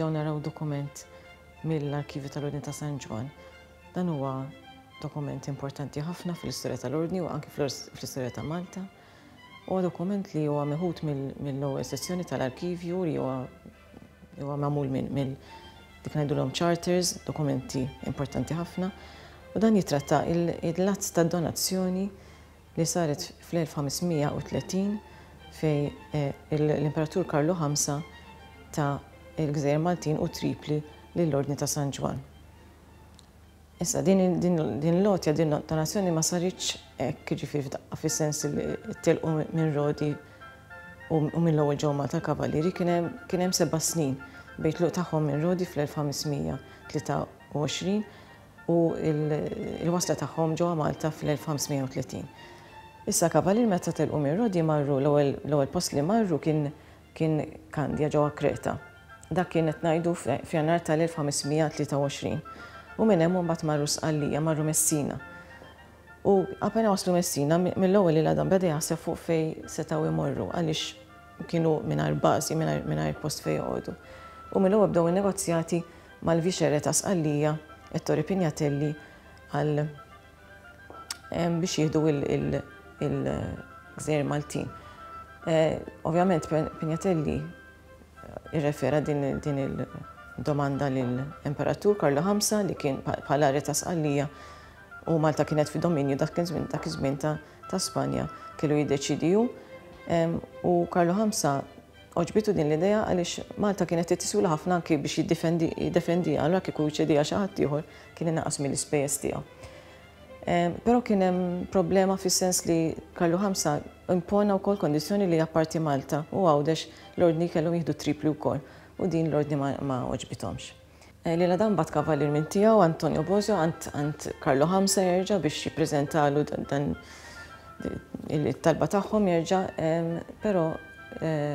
nerġgħu naraw dokument mill-Arkivju tal-Ordni ta' San Ġwann. Dan huwa dokument importanti ħafna fl-istorja tal-Ordni u anki fl-istorja ta' Malta. Huwa dokument li huwa meħud mill-ewwel sezzjoni tal-arkivju li huwa huwa magħmul minn dik ngħidulhom charters, dokumenti importanti ħafna, u dan jitratta il-att ta' donazzjoni li saret fl-1530 fejn l-Imperatur Karlu V ta l-Gżejjer Maltin u Tripli lill-Ordni ta' San Ġwann. Issa, din l-għotja, din donazzjoni ma saritx hekk, jiġifieri f'daqqa fis-sens li telqu minn Rodi u mill-ewwel ġew Malta l-Kavallieri, kien hemm seba' snin bejn tluq tagħhom minn Rodi fl-1523 u l-wasla tagħhom ġewwa Malta fl-1530. Issa Kavallieri meta telqu minn Rodi marru l-ewwel post li marru kien Kien Kandja ġewwa Kreta. Dak kien qed ngħidu f'Jannar tal-1523. U minn hemm imbagħad marru Sqallija, marru Messina. U appena waslu Messina, mill-ewwel il-Adam beda jaħseb fuq fejn setgħu jmorru għaliex kienu mingħajr bażi, mingħajr post fejn joqogħdu. U mill-ewwel bdew in-negozjati mal-Viċere ta' Sqallija, Ettore Pignatelli, għal biex jieħdu il-gżejjer Maltin. Ovvjament Pignatelli irrefera din il-domanda lill-Imperatur Karlu V li kien bħala re ta' Sqallija u Malta kienet fi dominju dak iż-żmien ta' Spanja kellu jiddeċiedi hu. U Karlu V għoġbitu din l-idea għaliex Malta kienet tiswila ħafna anki biex jiddefendiha, allura kieku jċediha xi ħadd ieħor kien inaqqas mill-ispejjeż tiegħu. Però kien hemm problema fis-sens li Karlu V impona wkoll kondizzjoni li apparti Malta u Għawdex l-Ordni kellhom jieħdu Tripli wkoll u din l-Ordni ma għoġbithomx. Lil Adam bagħat kavallier minn tiegħu, Antonio Bosio, għand Karlu V jerġa' biex jippreżentalu dan it-talba tagħhom jerġa', però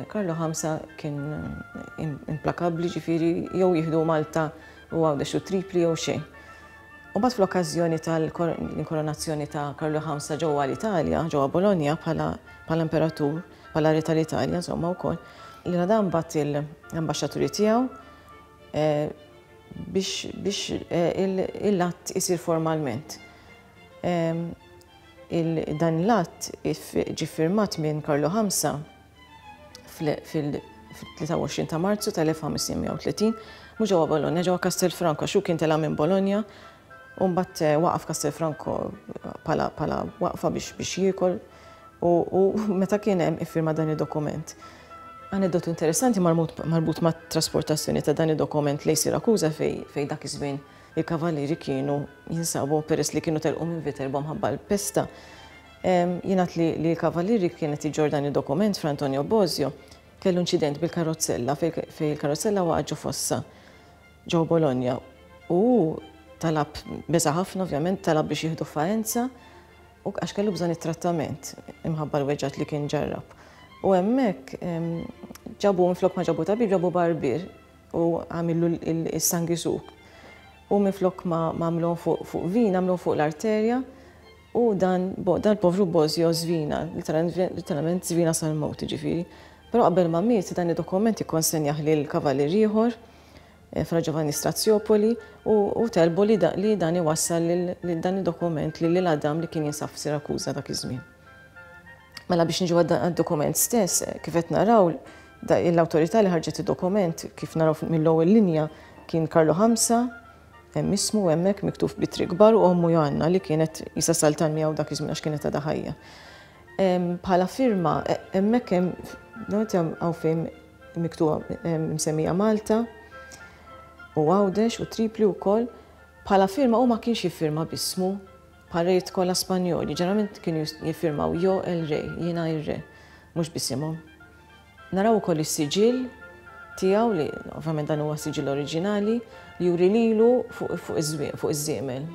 Karlu V kien implakabbli, ġifieri jew jieħdu Malta u Għawdex u Tripli jew xejn. U mbagħad fl-okkażjoni tal-inkoronazzjoni ta' Karlu V ġewwa l-Italja, ġewwa Bologna bħala bħala imperatur, bħala re tal-Italja insomma wkoll, l-Adam bagħat l-ambaxxaturi tiegħu eh, biex biex eh, il-att isir formalment. Ehm, dan l-att ġie firmat minn Karlu V fil-23 ta' Marzu tal-1530, mhux ġewwa Bologna, ġewwa Castelfranco, għax hu kien tela' minn Bologna u mbagħad eh, waqaf Castelfranco bħala waqfa biex biex jiekol u, u meta kien hemm iffirma dan id-dokument. Aneddotu interessanti marbut ma' trasportazzjoni ta' dan id-dokument lejn Sirakuża fej, fej dak iż-żmien il-kavallieri kienu jinsabu peress li kienu telqu minn Viterbo mħabba l-pesta. Jingħad li li l-Kavallieri kien qed iġorr dan id-dokument fra Antonio Bosio kellu inċident bil-karozzella fejn il-karozzella waqgħet ġo fossa ġo Bologna u hu talab beża' ħafna ovvjament talab biex jieħdu Faenza u għax kellu bżonn it-trattament imħabba l-weġgħat li kien ġarrab. U hemmhekk ġabu minflok ma ġabu tabib ġabu barbier u għamillu s-sangisug. U minflok ma għamluhom fuq vina għamluhom fuq l-arterja U dan, dan povru Bosio żvina, litteralment żvina sal-mewt, jiġifieri. Però qabel ma miet, dan id-dokument ikkonsenjah lil kavallier ieħor, eh, Fra Giovanni Straziopoli, u telbu li, li dan iwassal lil dan id-dokument lil Adam li kien jinsab f'Sirakuża dak iż-żmien. Mela biex niġu għad-dokument stess, eh, kif qed naraw, l-awtorità li ħarġet id-dokument, kif naraw mill-ewwel linja, kien Karlu Ħamsa, Hemm ismu hemmhekk miktub b'ittri kbar u ommu Joanna li kienet qisha saltan miegħu dak iż-żmien għax kienet għadha ħajja. Bħala firma hemmhekk hemm hawn fejn miktuba msemmija Malta u Għawdex u Tripli wkoll. Bħala firma hu ma kienx jiffirma b'ismu bħal rejiet kollha Spanjoli, ġeneralment kienu jiffirmaw Jo el Rey, jiena ir-re, mhux b'isimhom. Naraw ukoll is-siġill tiegħu li ovvjament dan huwa siġill oriġinali li juri lilu fuq iż-żiemel.